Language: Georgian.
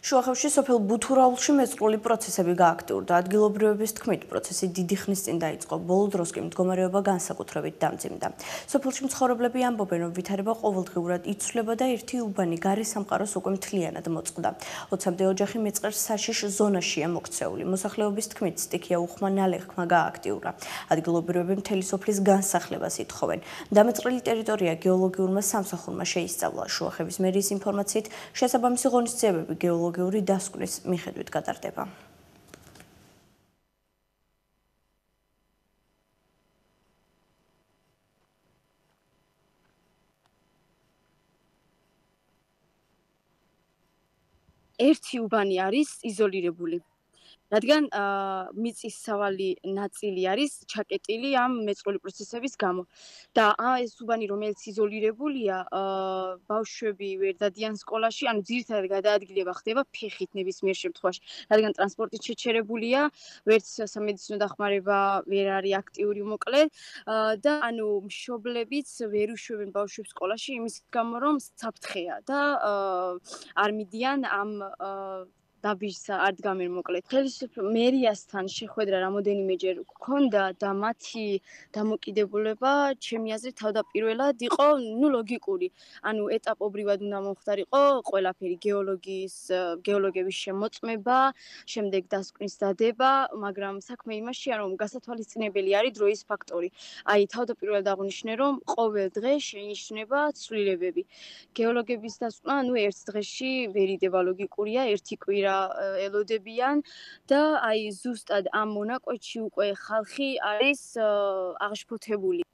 შუახევში სოფელ ბუთურაულში მეწყრული პროცესები გააქტიურდა. ადგილობრივების თქმით, პროცესი დიდი ხნის წინ დაიწყო. ბოლო დროს კი მდგომარეობა განსაკუთრებით დამძიმდა. სოფელში მცხოვრებლები ამბობენ, რომ ვითარება ყოველდღიურად იცვლება და ერთი უბანი გარე სამყაროს უკვე მთლიანად მოწყდა. 20-მდე ოჯახი მეწყერს საშიშ ზონაშია მოქცეული. მოსახლეობის თქმით, სტიქია უხმა ნალექმა გააქტიურა. ადგილობრივები მთელი სოფლის განსახლებას ითხოვენ. დამეწყრილი ტერიტორია გეოლოგიურმა სამსახურმა შეისწავლა. შუახევის მერიის ინფორმაციით, შესაბამისი ღონისძიებები გეოლოგიური დასკვნის მიხედვით გატარდება. ერთი უბანი არის იზოლირებული. რადგან მიწის სავალი ნაწილი არის ჩაკეტილი ამ მეწყრული პროცესების გამო. და ეს უბანი, რომელიც იზოლირებულია, ბავშვები ვერ დადიან სკოლაში, ანუ ძირითადად გადაადგილება ხდება ფეხით ნებისმიერ შემთხვევაში, რადგან ტრანსპორტით შეჩერებულია, ვერც სამედიცინო დახმარება ვერ არის აქტიური მოკლედ და ანუ მშობლებიც ვერ უშვებენ ბავშვებს სკოლაში იმის გამო, რომ საფრთხეა და არ მიდიან ამ დაბიჯს არ დგამენ მოკლედ. ხელისუფლება მერიასთან შეხვედრა რამოდენიმეჯერ გქონდა და მათი დამოკიდებულება ჩემი აზრით თავდაპირველად იყო ლოგიკური. ანუ ეტაპობრივად უნდა მომხდარიყო ყველაფერი გეოლოგების შემოწმება, შემდეგ დასკვნის დადება, მაგრამ საქმე იმაშია, რომ გასათვალისწინებელი არის დროის ფაქტორი. აი თავდაპირველად აღნიშნე, რომ ყოველ დღე შეინიშნება ცვლილებები. გეოლოგების დასკვნა, ერთ დღეში ვერ იდება ლოგიკურია, ერთი კვირა ელოდებიან და აი ზუსტად ამ მონაკვეთში უკვე ხალხი არის აღშფოთებული.